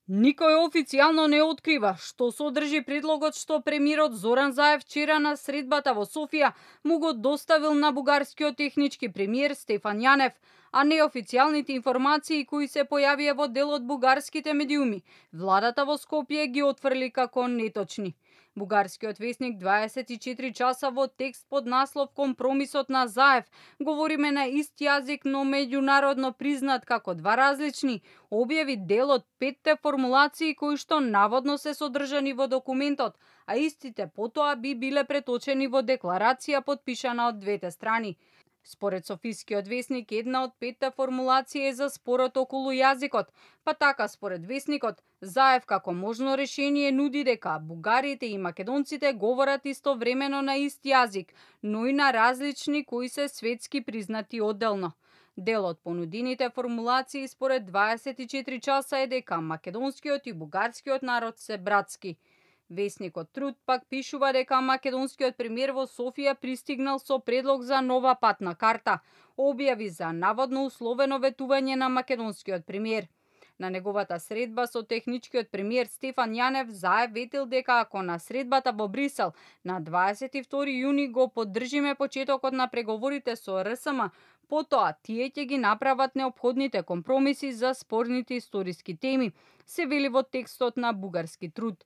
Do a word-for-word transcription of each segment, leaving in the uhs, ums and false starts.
Никој официјално не открива што содржи предлогот што премиерот Зоран Заев вчера на средбата во Софија му го доставил на бугарскиот технички премиер Стефан Јанев, а неофицијалните информации кои се појавија во дел од бугарските медиуми, владата во Скопје ги отфрли како неточни. Бугарскиот весник дваесет и четири часа во текст под наслов "Компромисот на Заев" говориме на ист јазик, но меѓународно признат како два различни, објави дел од петте формулации кои што наводно се содржани во документот, а истите потоа би биле преточени во декларација подпишана од двете страни. Според Софискиот весник, една од петте формулации е за спорот околу јазикот, па така според весникот, Заев како можно решение нуди дека бугарите и македонците говорат истовремено на ист јазик, но и на различни кои се светски признати одделно. Дел од понудените формулации според дваесет и четири часа е дека македонскиот и бугарскиот народ се братски. Весникот Труд пак пишува дека македонскиот премиер во Софија пристигнал со предлог за нова патна карта, објави за наводно условено ветување на македонскиот премиер. На неговата средба со техничкиот премиер Стефан Јанев, Заев ветил дека ако на средбата во Брисел на дваесет и втори јуни го поддржиме почетокот на преговорите со Ер Ес Ем, потоа тие ќе ги направат неопходните компромиси за спорните историски теми, се вели во текстот на бугарски Труд.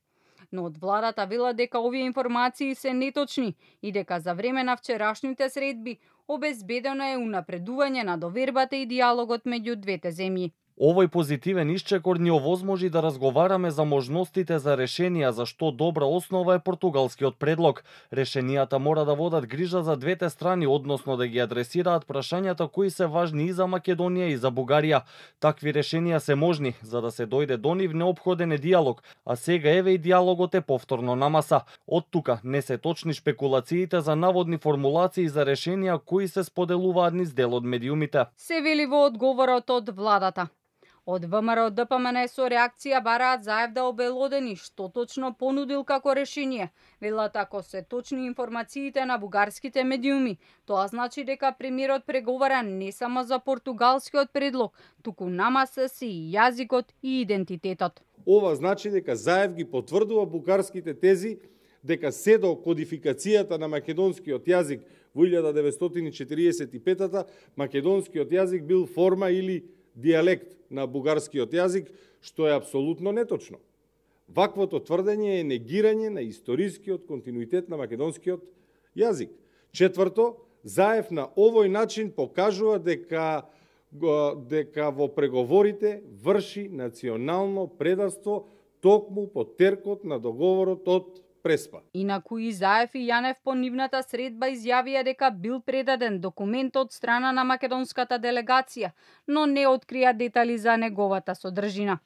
Но од владата вела дека овие информации се неточни и дека за време на вчерашните средби обезбедено е унапредување на довербата и дијалогот меѓу двете земји. Овој позитивен исчекор ни овозможи да разговараме за можностите за решенија за што добра основа е португалскиот предлог. Решенијата мора да водат грижа за двете страни, односно да ги адресираат прашањата кои се важни и за Македонија и за Бугарија. Такви решенија се можни, за да се дојде до нив неопходен е дијалог, а сега еве и дијалогот е повторно на маса. Од тука не се точни шпекулациите за наводни формулации за решенија кои се споделуваат низ дел од медиумите. Се вели во одговорот од владата. Од ВМРО Д П М Н со реакција бараат Заев да обелодени што точно понудил како решение. Велат ако се точни информациите на бугарските медиуми, тоа значи дека премиерот преговара не само за португалскиот предлог, туку намаса се и јазикот и идентитетот. Ова значи дека Заев ги потврдува бугарските тези дека се до кодификацијата на македонскиот јазик во илјада деветстотини и четириесет и петата македонскиот јазик бил форма или дијалект на бугарскиот јазик, што е апсолутно неточно. Ваквото тврдење е негирање на историскиот континуитет на македонскиот јазик. Четврто, Заев на овој начин покажува дека дека во преговорите врши национално предавство токму по теркот на договорот од Преспа. Инаку и Заев и Јанев по нивната средба изјавија дека бил предаден документ од страна на македонската делегација, но не открија детали за неговата содржина.